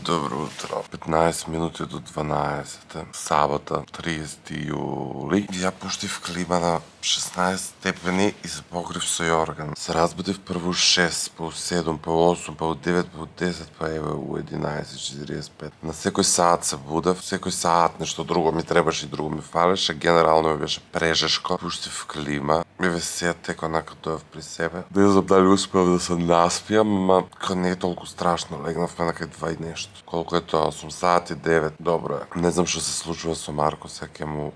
Добро утро. 15 минути до 12. Сабота, 30 јули. Ја пуштив клима на 16 степени и се покрив со јорган. Се разбудив прво 6, па 7, па 8, па 9, па 10, па еве у 11:45. На секој саат се будев, секој саат нешто друго ми требаше и друго ми фалеше. Генерално ми беше прежешко. Пуштив клима. Еве се тек онака доев при себе. Не знам дали успеав да се наспијам, ама не е толку страшно. Легнавме на кај 2 и нешто. Колку е тоа? 8 сати 9. Добро е. Не знам што се случува со Марко, сега ќе му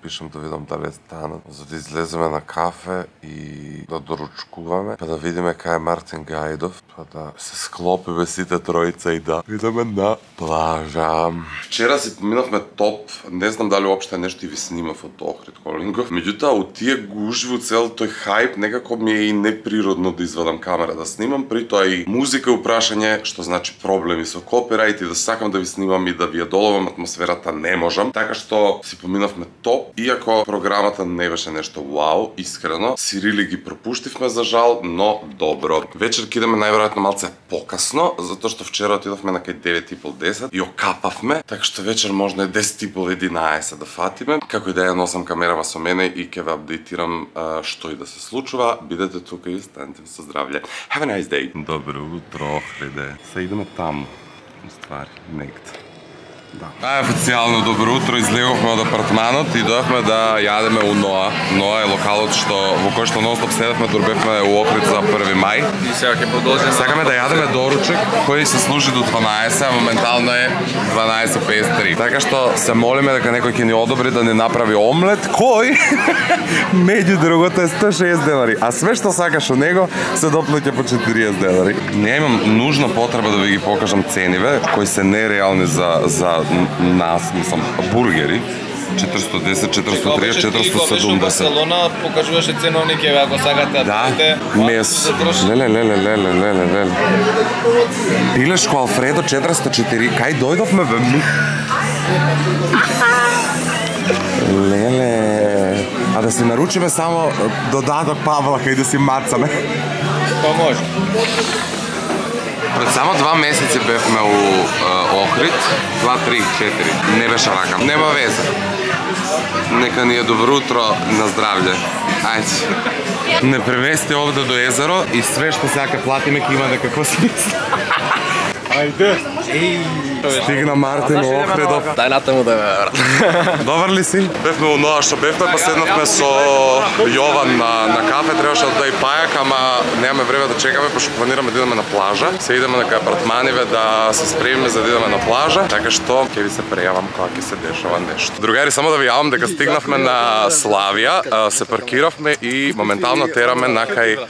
пишам да видам дали е станат, за да излеземе на кафе и да доручкуваме, па да видиме кај е Мартин Гајдов, па да се склопиме сите тројца и да идеме на плажа. Вчера си поминавме топ, не знам дали уопште нешто и ви снимав од Охрид Холингов, меѓутоа од тие гужви, од цел тој хајп, некако ми е и неприродно да извадам камера да снимам, при тоа и музика и упрашање, што значи проблеми со копирајт и да сакам да ви снимам и да ви ја доловам атмосферата, не можам, така што си поминавме топ, иако програмата не беше нешто вау, искрено, Сирили ги пропуштивме за жал, но добро. Вечер ќе идеме најверојатно малце покасно, затоа што вчера отидовме на кај 9:30 и окапавме, така што вечер можно е 10:30-11 да фатиме. Како и да ја носам камерава со мене и ќе ве апдейтирам што и да се случува. Бидете тука и останете со здравје. Have a nice day. Добро утро, Охриде. Се идеме таму. Ствари, негде. Да. Официјално добро утро, излеговме од апартманот и дојавме да јадеме у Ноа. Ноа е локалот во кој што нонстоп седевме, дорбевме у Охрид за 1 мај. И сега ќе продолжиме. Сакаме да јадеме доручек кој се служи до 12, а моментално е 12:53. Така што се молиме дека некој ќе ни одобри да ни направи омлет кој меѓу другото е 160 денари, а све што сакаш од него се доплаќа по 40 денари. Немам нужна потреба да ви ги покажам цениве кои се нереални за нас, мислам, бургери. 410, 430, 470. Барселона покажуваше ценовнике, ако сакате да купите. Мес. Леле. Пилешко Алфредо 404. Кај дојдовме бе? Леле. А да си наручиме само додаток Павла кај да си мацаме. Па може. Пред само 2 месеци бевме у Охрид, 2, 3, 4. Не беше вака. Нема везе. Нека ни е добро утро, на здравје. Ајде. Не премести овде до езеро и све што сега платиме ќе има некакво смисла. Ајде. Стигна Мартин Охридов. Дај натаму да ме брат. Добар ли си? Бевме у Ноа што бевме, па седнавме со Јован на кафе, требаше да и пајак, ама немаме време да чекаме, пошто планираме да идеме на плажа. Се идеме на кај апартманиве да се спремиме за да идеме на плажа, така што ќе ви се прејавам кога ќе се дешава нешто. Другари, само да ви јавам дека стигнавме на Славија, се паркиравме и моментално тераме на кај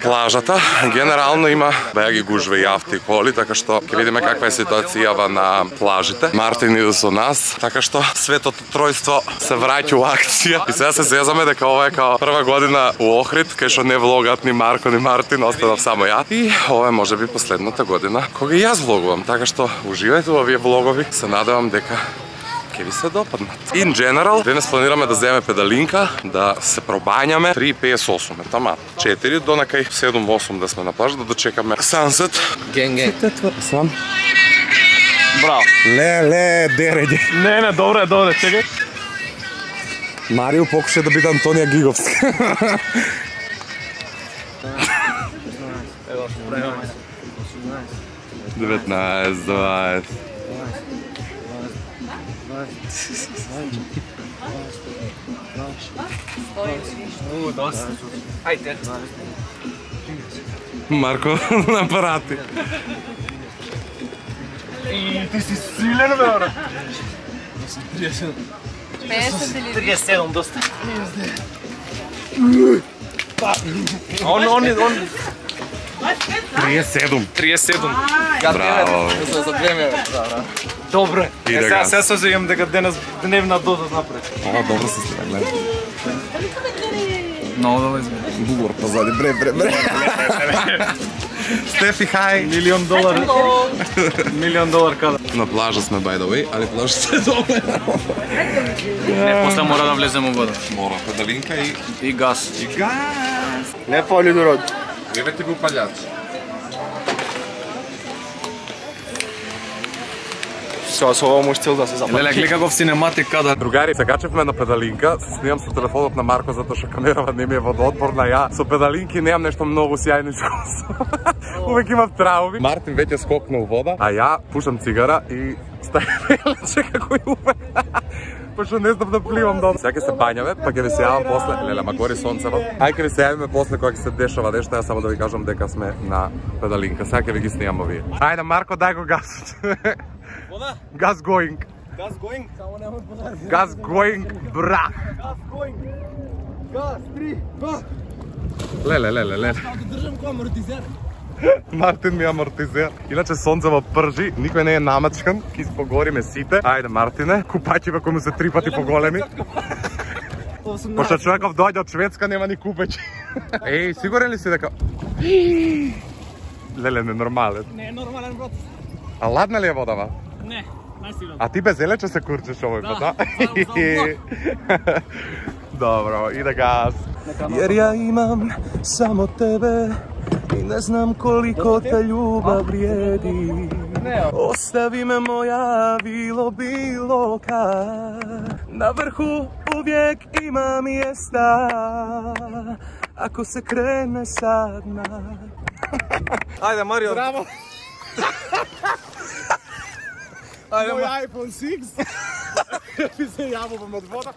плажата. Генерално има беа ги гужве и авто и коли, така што ќе видиме каква е ситуацијава на плажите. Мартин иде со нас, така што светото тројство се враќа у акција. И сега се зезаме дека ова е као прва година у Охрид, кај што не влогат ни Марко ни Мартин, останав само ја. И ова е можеби последната година кога и јас влогувам, така што уживајте во овие влогови. Се надевам дека ќе ви се допаднат. In general, денес планираме да земеме педалинка, да се пробањаме. 3:58 е тама. 4 до накај 7-8 да сме на плажа, да дочекаме Sunset. Ген. Сам. Браво. Ле, дереđe. Не, добро е, чекај. Марио покуша да биде Антонија Гиговска. Ево, време. 19, 20. Ајде. Марко на апарати. И ти си силен, бе, брат. 50 или 37, доста. Он 37. Браво. За 2 ме. Добре. Сега се сеќавам дека денес дневна доза напред. Ова добро се слега, гледа. Много добро изгледа. Бугор позади, бре. Стефи, хај. Милион долар када. На плажа сме, by the way, али плажата е доле. Не, после мора да влезем у вода. Мора, педалинка и газ. Не пали дород. Еве ти го палјач. со ова можеш цел да се запали. Леле, гледа како в синематик кадар. Другари, се качевме на педалинка, се снимам со телефонот на Марко затоа што камерава не ми е водоотпорна. Ја со педалинки немам нешто многу сјајно искуство. Увек имам трауми. Мартин веќе скокна у вода, а ја пушам цигара и ставам велече како и увек. Пошто не знам да пливам долу. Сега ќе се бањаме, па ќе ви се јавам после. Леле, ма гори сонцево. Ај ќе ви се јавиме после кога ќе се дешава нешто, јас само да ви кажам дека сме на педалинка. Сега ќе ви ги снимам овие. Ајде Марко, дај го гасот. Вода? Газ going. Газ going? Само нема подари. Газ going, бра. Газ going. Газ 3, 2. Леле. Држам кој амортизер. Мартин ми амортизер. Иначе сонцево пржи, никој не е намачкан, ки испогориме сите. Ајде Мартине, купаќиве кои му се 3 пати поголеми. Пошто човеков дојде од Шведска, нема ни купеќи. Еј, сигурен ли си дека... Леле, ненормален. Не е нормален, брат. А ладна ли е водава? Не, најсигурно. А ти без елече се курчеш овој пат, да? Добро, иде газ. Jer ja imam samo tebe i ne znam koliko te ljubav vrijedi. Ostavi me moja bilo kad. Na vrhu uvijek ima mjesta ako se krene sa dna. Ајде, Марио. Браво! Мој iPhone 6 ми се јавувам од вода.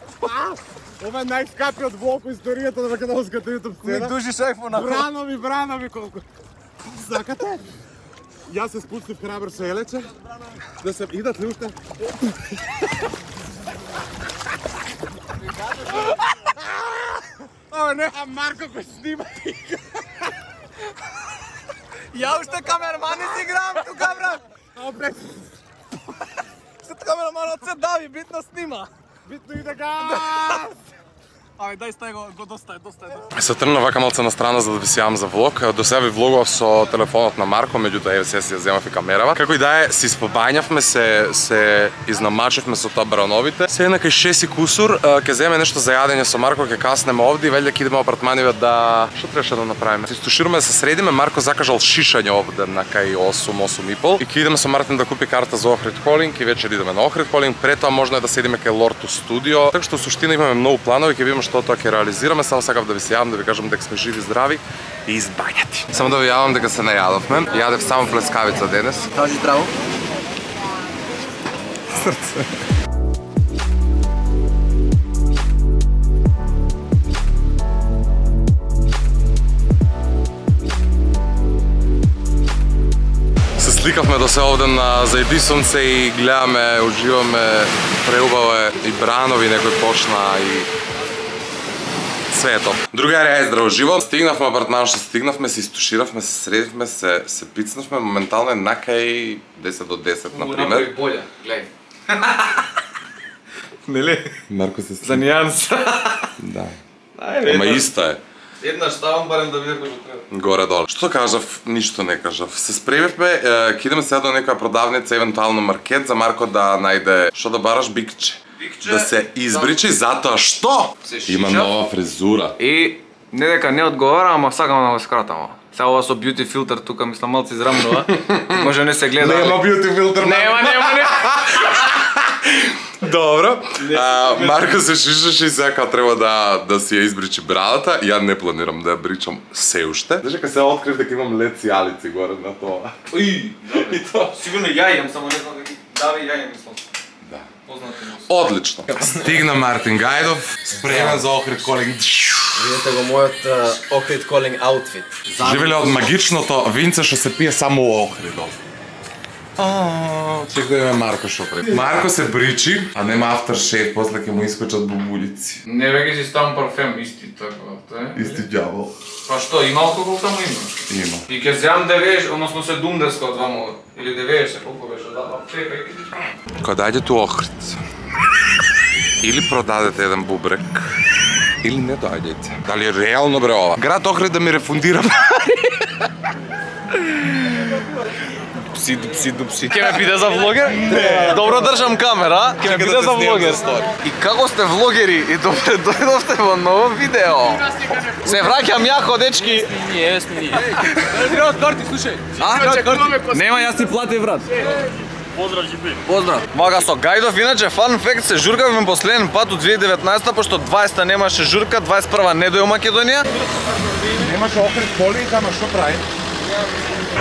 Ова е најскапиот влог во историјата на македонската YouTube сцена. Ми дужиш iPhone-а. Бранови колку. Сакате? Јас се спустив храбар со елече. Да се идат ли уште? О, не, а Марко кој снима. Ја уште камермани си играм тука, брат. Опред. Сет камераманот се дави, битно снима. Битно иде газ. Ајде, дај стај го доста е. Се тргнав вака малце на страна за да ви се јавам за влог. До сега ви влогував со телефонот на Марко, меѓутоа еве се ја земав и камерава. Како и да е, се испобањавме, се изнамачевме со тоа брановите. Се една кај 6 и кусур, ќе земеме нешто за јадење со Марко, ќе каснеме овде и велје ќе идеме во апартманиве да... Што требаше да направиме? Се истушираме да се средиме, Марко закажал шишање овде на кај 8,5 и ќе идеме со Мартин да купи карта за Охрид Холинг и вечер идеме на Охрид Холинг. Пред тоа можно е да седиме кај Лорту студио. Така што во суштина имаме многу планови, ќе видиме што тоа ќе реализираме. Само сакав да ви се јавам, да ви кажам дека сме живи, здрави и избањати. Само да ви јавам дека се најадовме. Јадев само плескавица денес. Кажи здраво. Срце. Се сликавме до се овде на зајди сонце и гледаме, уживаме, преубаво е и бранови, некој почна и све е топ. Другари, ајде здраво живо. Стигнавме апартман што стигнавме, се истуширавме, се средивме, се пицнавме, моментално е накај 10 до 10, например. Болја, гледај. Нели? Марко се За нијанс. Да. Ама иста е. Еднаш ставам барем да видам како треба. Горе-долу. Што кажав? Ништо не кажав. Се спремивме, ќе идеме сега до некоја продавница, евентуално маркет, за Марко да најде што да бараш, бикче. Да се избричи затоа што има нова фризура. И не дека не одговара, ама сакам да го скратам. Сега ова со бјути филтер тука мислам малци израмнува. Може не се гледа. Нема бјути филтер. Нема. Добро. Марко се шишаше и сега треба да си ја избричи брадата. Ја не планирам да ја бричам се уште. Знаеш дека се открив дека имам лед сијалици горе на тоа. И тоа сигурно ја имам, само не знам дека даве ја имам мислам. Да. Познати му. Одлично. Стигна Мартин Гајдов, спремен за Охрид Холинг. Видете го мојот Охрид Холинг аутфит. Живеле од магичното винце што се пие само у Охридов. Чек да име Марко шо пред. Марко се бричи, а нема aftershave, после ќе му искочат бубулици. Не веќе си ставам парфем исти така, Исти ѓавол. Па што, има алкохол таму има? Има. И ќе земам 90, односно 70 од ваму, или 90, колку беше, да, чекај. Кога дојдете у Охрид, или продадете еден бубрек, или не дојдете. Дали е реално бре ова? Град Охрид да ми рефундира Дупси. Ке ме биде за влогер? Добро држам камера, ке ме биде за влогер. И како сте влогери и добре дојдовте во ново видео. Се враќам јако, дечки. Не, сме ние. Треба карти, слушај. Нема, јас ти платив, брат. Поздрав. Мага со Гајдов, иначе фан факт се журкавме последен пат од 2019-та, пошто 20-та немаше журка, 21-та не дојде у Македонија. Немаше Охрид Колинг, ама што прави?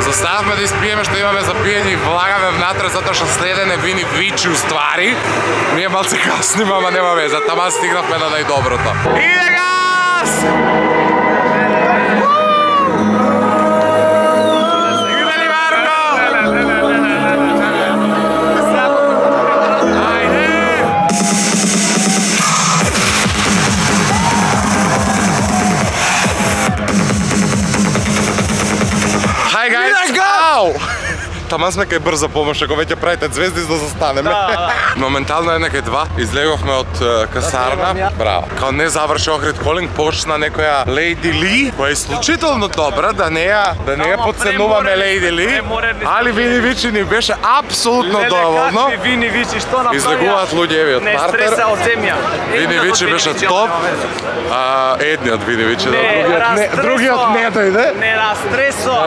Заставме да испиеме што имаме за пиење и влагаме внатре затоа што следене вини вичи уствари. Ние малце касниме, ама нема веза, тама стигнавме на најдоброто. Иде газ! Таман сме кај брза помош, ако веќе правите звезди за да застанеме. Моментално една кај два, излеговме од касарна. Браво. Као не заврши Охрид Колинг, почна некоја Лејди Ли, која е исклучително добра, да не ја подценуваме Лејди Ли, али Вини Вичи ни беше апсолутно доволно. Вини Вичи што направија? Излегуваат луѓеви од партер. Не стреса од земја. Вини Вичи беше топ. Едниот Вини Вичи, другиот не дојде. Не растресо.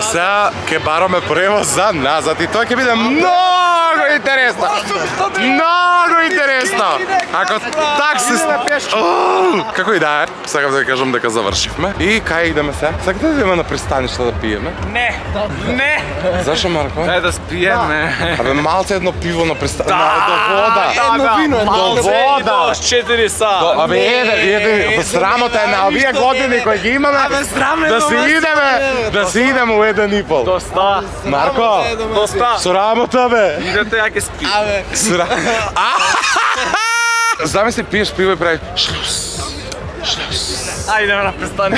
Сега ќе бараме превоз за назад и тоа ќе биде многу интересно. Многу интересно. Ако такси како и да е, сакам да ви кажам дека завршивме. И кај идеме сега? Сакате да идеме на пристаниште да пиеме? Не. Зашо, Марко? Дај да спиеме. Абе малце едно пиво на пристаниште. До вода. Едно вино, до вода. 4 сата. Абе еден срамота е на овие години кои ги имаме. Да си идеме у 1,5. Доста. Марко, Доста. срамота бе. Идете ја ќе спи. Замисли пиеш пиво и прави Ајде на престани.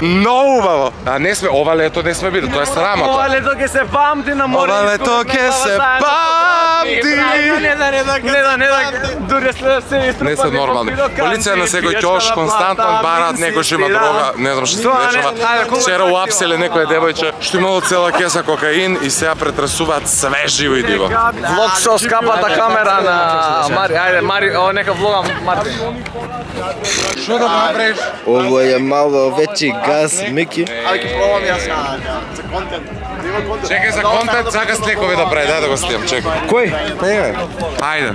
Многу убаво. А не сме, ова лето не сме били, тоа е срамота. Ова лето ќе се памти на море. Ова лето ќе се памти. Не да, дури след се иструпа. Не се нормални. Полиција на секој ќош константно бараат некој што има дрога, не знам што се дешава. Вчера уапселе некоја девојче што имало цела кеса кокаин и сега претрасуваат све живо и диво. Влог со скапата камера на Мари. Ајде, Мари, ово нека влогам Марти. Што да направиш? Ovo je malo veći gaz, Miki. Чекај за контент, сакаш лекови да прави, дај да го снимам, чекај. Кој? Ајде.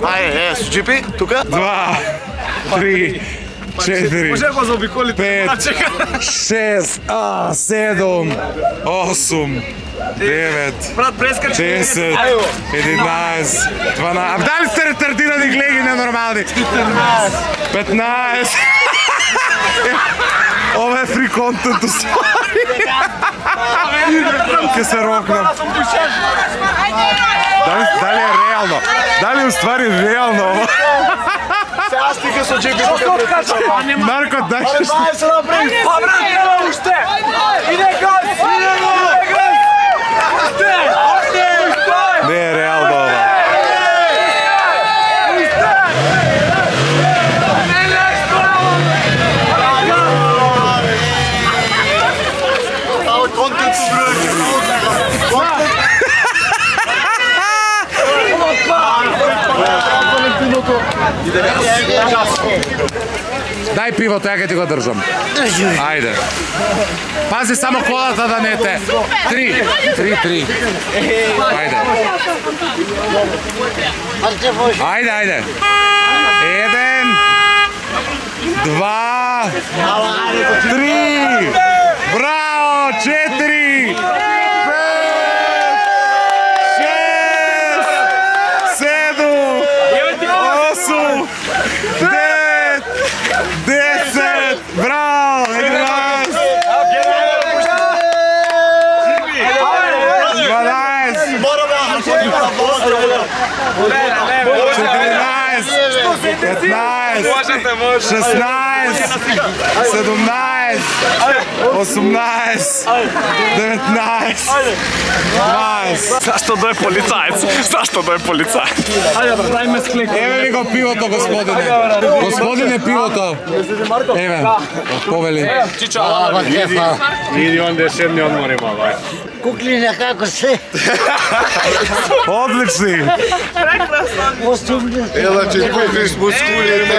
Ајде, с джипи, тука? 2, 3, 4, Може го заобиколите. 5, 6, 7, 8, 9, Брат, прескачи. 10, 11, 12. Дали сте ретардирани глеги ненормални? 15. Ова е фри контент уствари. Ке се рокнам. Дали е реално? Дали уствари реално ова? Сега стига со джипи. Марко, дай што... Знаеш се направи. Па брат, не уште. Иде газ. Не е реално ова. Дај пивото, ја ќе ти го држам. Ајде. Пази само колата да не те. 3. Ајде. Ајде. 1, 2, 3. Браво, 4. 10, браво, 11, 20. Зашто да е полицаец? Ајде, брат, дај ме склик. Еве ви го пивото, господине. Господине, пивото. Еве, повели. Иди онде седни одмори мало, ај. Куклиня, како се? Одлични. Осумни. Ела, че купиш мускули.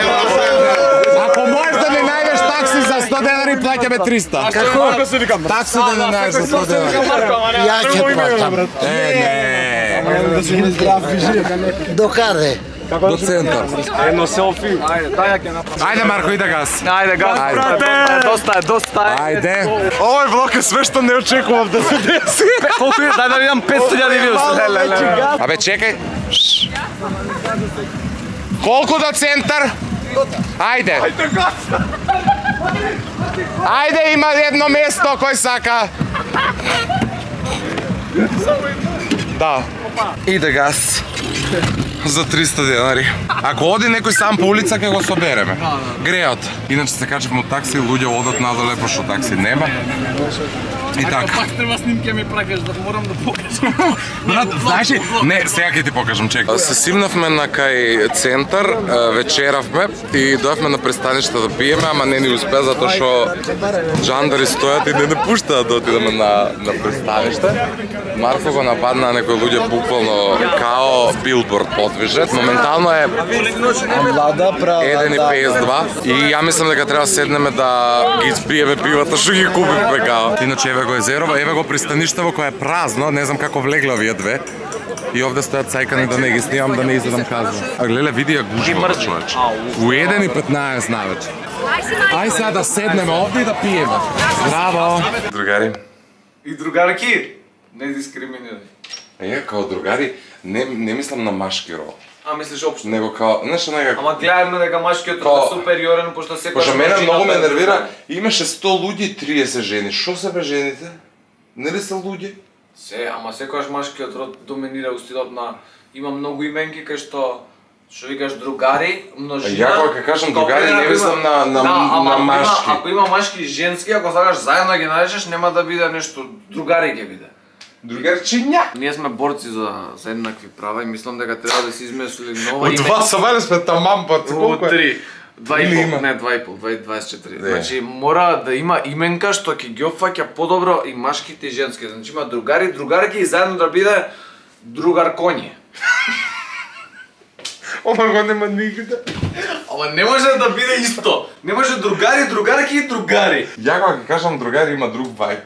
Ако можеш да не најдеш такси за 100 денари плаќаме 300. Како? Такси да не најеш за 100 денари. Ја ќе платам. Не. До каде? До центар. Едно селфи. Ајде Марко, иде газ. Ајде, газ, доста е. Ајде. Овој влог е све што не очекував да се деси. Колку е? Дај да видам 500.000 views. Абе чекај. Колку до центар? Ајде. Ајде, има едно место кој сака. Да. Иде газ. За 300 денари. Ако оди некој сам по улица, ќе го собереме. Греот. Иначе се качевме од такси, луѓе одат надоле, пошто такси нема. И така. Пак треба снимке ми пракаш, да морам да покажам. Брат, знаеш ли? Не, сега ќе ти покажам, чекај. Се симнавме на кај центар, вечеравме и дојавме на пристаниште да пиеме, ама не ни успе затоа што джандари стојат и не пуштаат да отидеме на пристаниште. Марко го нападна некои луѓе буквално као билборд подвижет. Моментално е 1:52 и ја мислам дека треба седнеме да ги испиеме пивата што ги купивме као. Иначе еве го езерово, еве го пристаништево кое е празно, не знам како влегле овие две. И овде стојат цајкани да не ги снимам, да не изедам казна. А гледа, види ја гужва, човече. У 1:15 навече. Ај сега да седнеме овде и да пиеме. Здраво! Другари. И другарки, не дискриминирај. Е, као другари, не мислам на машки рол. А мислиш општо? Него као, нешто некако. Ама гледаме дека машкиот род е супериорен, пошто секој... Пошто мене многу ме нервира, имаше 100 луѓе и 30 жени. Шо се бе жените? Нели се луѓе? Ама секојаш машкиот род доминира у стилот на... Има многу именки кај што викаш другари, множина... Ја кога кажам другари, не мислам на машки. Ако има машки и женски, ако сакаш заедно ги наречеш, нема да биде нешто другари ќе биде. Другарчиња. Ние сме борци за еднакви права и мислам дека треба да се измисли нова Од два сабајле сме тамам борци, колку е? 2,5, не 2,5, 24. Значи мора да има именка што ќе ги опфаќа подобро и машките и женски. Значи има другари, другарки и заедно да биде другар коње. Ова го нема нигде. Ама не може да биде исто. Не може другари, другарки и другари. Ја кога ќе кажам другари има друг вајб.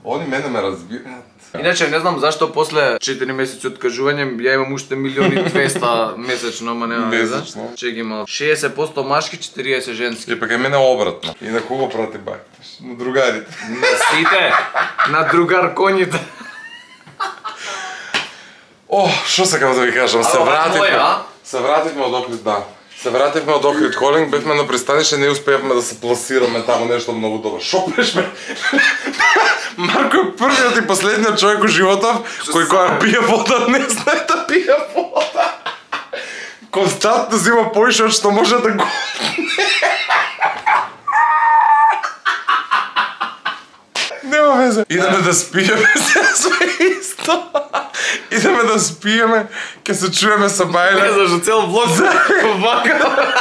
Они мене ме разбираат. Иначе не знам зашто после 4 месеци откажување ја имам уште 1.200.000 месечно, ама нема веза. Чек има 60% машки, 40 женски. И пак е мене обратно. И на кого прати бајташ? На другарите. На сите, на другар коњите. О, шо сакам да ви кажам, се вративме од Охрид, да. Се вративме од Охрид Холинг, бевме на пристанище, не успеавме да се пласираме таму нешто многу добро. Шо беше? Марко е првиот и последниот човек у животов кој кога пие вода не знае да пие вода. Константно зима поише од што може да го... Нема везе. Идеме да спиеме, се исто. Идеме да спиеме, ке се чуеме со Бајле. Не зашто цел влог вака.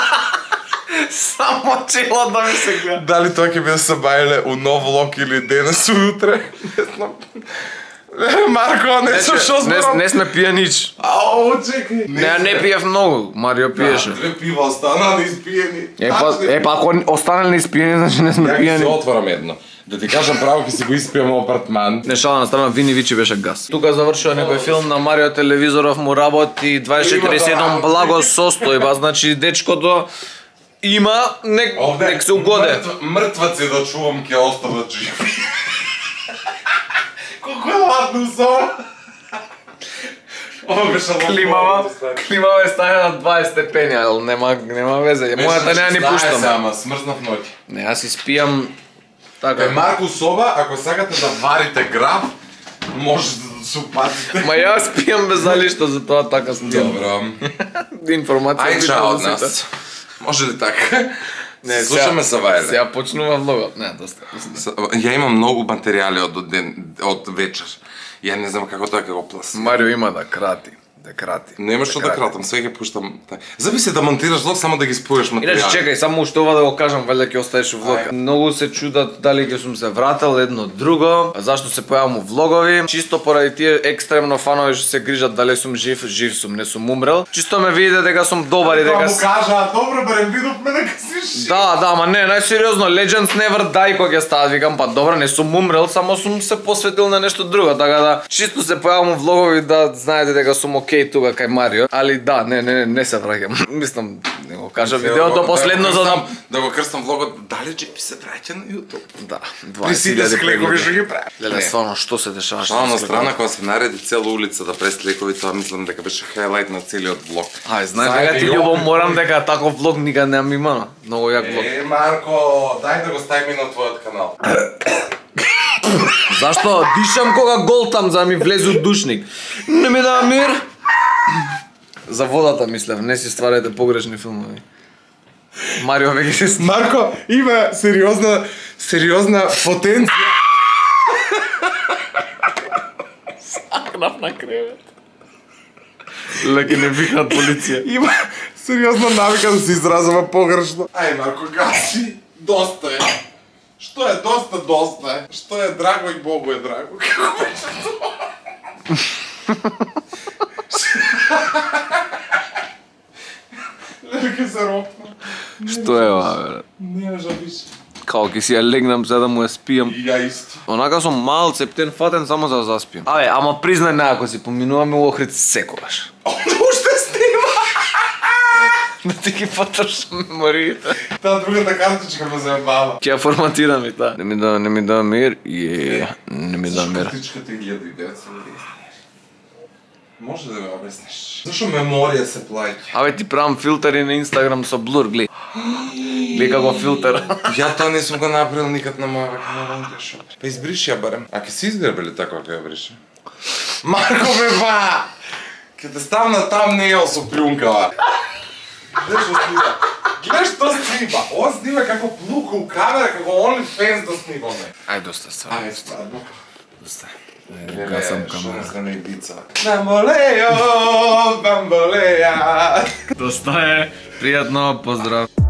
Само чело да ми се гледа. Дали тоа ќе биде со Бајле у нов влог или денес утре? Не знам. Марко, не сум шо зборам. Не сме пијанич. Ау, чекај. Не пиев многу, Марио пиеше. Две пива остана неиспиени. Па ако останали неиспиени, значи не сме Ја ќе се пијани. отворам едно. Да ти кажам право, ќе си го испијам апартман. Не шала на страна, Вини Вичи беше газ. Тука завршува некој филм на Марио Телевизоров, му работи 24/7 благо состојба, значи дечкото има, нек се угоде. Мртваци да чувам ќе остават живи. Колко е ладно со. Ова беше Климава е стаја на 20 степени, ал нема везе. Мојата неа ни пуштам. Ама смрзнав ноќ. Не, јас испијам така. Кај Марко соба, ако сакате да варите граф, може да се упатите. Ма јас пијам без залишта, затоа така снимам. Добро. Информација. Ај чао од нас. Може ли така? Не, слушаме се Вајле. Сега почнува влогот. Не, доста. Ја имам многу материјали од вечер. Ја не знам како тоа ќе го пласирам. Марио има да крати. Да крати. Нема што да кратам, сега ќе пуштам. Зависи да монтираш влог, само да ги споеш материјали. Иначе чекај, само уште ова да го кажам, валјда ќе оставиш влог. Многу се чудат дали ќе сум се вратил едно друго, зашто се појавам у влогови. Чисто поради тие екстремно фанови што се грижат дали сум жив, жив сум, не сум умрел. Чисто ме видите дека сум добар и дека му кажа, добро барем видовме дека си жив. Да, ама не, најсериозно, Legends Never Die кога ќе стават, викам, па добро, не сум умрел, само сум се посветил на нешто друго, така да чисто се појавам у влогови да знаете дека сум окей тука кај Марио, али да, не се враќам. Мислам, не го кажам видеото последно за да го крстам влогот, дали Джепи се враќа на YouTube? Да, При сите склекови што ги прави. Леле, стварно, што се дешава? Шална страна, кога се нареди цела улица да прави склекови, тоа мислам дека беше хайлайт на целиот влог. Ај, знаеш дека ти љубов морам дека таков влог никад нема имано. Многу јак влог. Марко, дај да го ставим на твојот канал. Зашто дишам кога голтам за да ми влезе у душник? Не ми дава мир. За водата мислев, не си стварете погрешни филмови. Марио веќе се Марко има сериозна потенција. сакнав на кревет. Леки не викнат полиција. Има сериозна навика да се изразува погрешно. Ај Марко, гаси. Доста е. Што е доста е. Што е драго и Богу е драго. Како беше тоа? Леле се ропна. Што е ова, бе? Не може биш. Као ќе си ја легнам за да му ја спијам. И ја исто. Онака сум мал цептен фатен само за да заспиам. Абе, ама признај на ако си поминуваме у Охрид секогаш. Уште снима. Да ти ги потрошам мемориите. Таа другата картичка ме заебава. Ќе ја форматирам и таа. Не ми да мир. Не ми да мир. Картичката 1900. Може да ме обясниш? Зашо меморија се плаќа? Абе ти правам филтери на Инстаграм со блур, глеј. Глеј како филтер. Ја тоа не сум го направил никад на моја камера. Па избриши ја барем. А ќе се изгребели така ако ја бриши? Марко бе ба! Ќе те ставна там нејел со плюнкава. Гледаш што снима. Гледаш што снима. Ова снима како плука у камера, како OnlyFans да снимаме. Ај доста стварно. Ајде стварно. Доста. Гасам камера. Што не идица. Бамболео, бамболеа. Доста е. Пријатно, поздрав.